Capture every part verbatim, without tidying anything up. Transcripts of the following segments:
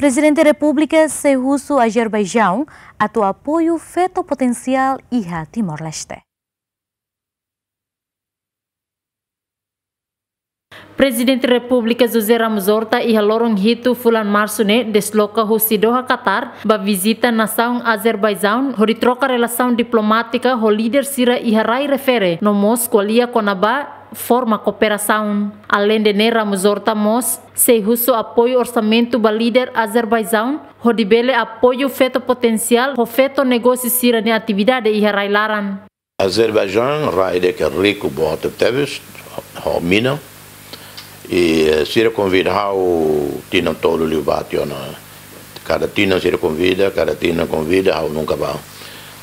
Prezidente Repúblika sei husu Azerbaijaun atu apoiu feto potensiál iha Timor-Leste. Prezidente Repúblika José Ramos Horta iha loron hitu fulan Marsu ne'e desloka husi Doha, Qatar, ba vizita nasaun Azerbaijaun, hodi troka relasaun diplomátika ho líder sira iha rai refere, no mós ko'alia kona-ba forma kooperasaun. Aleinde ne'e, Ramos Horta mós sei husu apoiu orsamentu ba líder Azerbaijaun, hodi bele apoiu feto potensiál ho feto negósiu sira-nia atividade iha rai laran. Azerbaijaun rai ida ke riku boot tebes ho mina. I, eh, sira konvida ha'u tinan tolu liubá tiha ona. Kada tinan sira konvida, kada tinan konvida, ha'u nunka bá.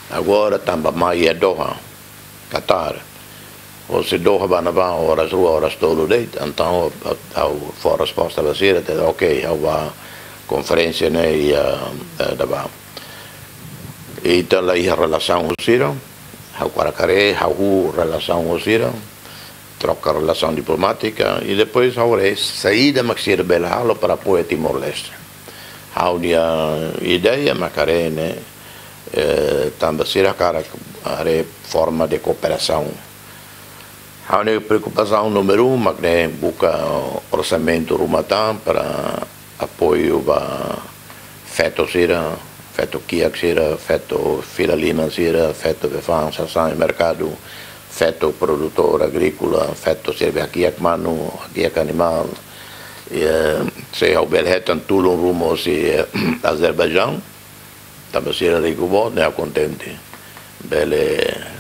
Agora tanba mai iha Doha, Qatar. Hosi Doha bá ne'ebá oras rua, oras tolu de'it, entaun ha'u fó resposta ba sira, dehan, ok, ha'u bá konferénsia ne'e iha, eh, ne'ebá. Ita la iha relasaun ho sira, ha'u hakarak haree, ha'u hahú relasaun ho sira, troka relasaun diplomátika, i depois ha'u haree saida mak sira bele halo para apoia Timor-Leste. Ha'u-nia ideia mak haree ne'e, eh, tanba sira hakarak haree forma de kooperasaun. Ha'u-nia preokupasaun númeru um mak ne'e buka orsamentu ruma tan para apoiu ba feto sira, feto kiak sira, feto fila liman sira, feto be fa'an sasán iha merkadu, feto produtór agríkola, feto sira be hakiak manu, hakiak animál. I, eh, se ha'u bele hetan tulun ruma husi, eh, Azerbaijaun, tanba sira riku boot, ne'e ha'u kontente. Bele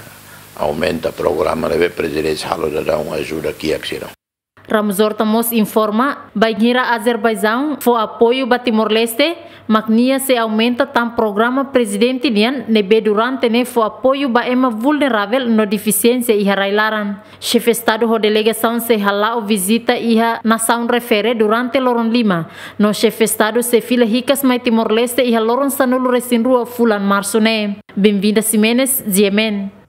aumenta programa ne'ebé prezidénsia halo daudaun ajuda kiak sira. Ramos Horta mós informa, bainhira Azerbaijaun fó apoiu ba Timor-Leste, mak nia sei aumenta tan programa prezidente nian ne'ebé durante ne'e fó apoiu ba ema vulneravel no defisiénsia iha rai laran. Xefe Estadu ho delegasaun sei hala'o vizita iha nasaun refere durante loron lima, no Xefe Estadu sei fila hikas mai Timor-Leste iha loron sanulu-resin-rua fulan Marsu ne'e. Benvinda Ximenes, G M N.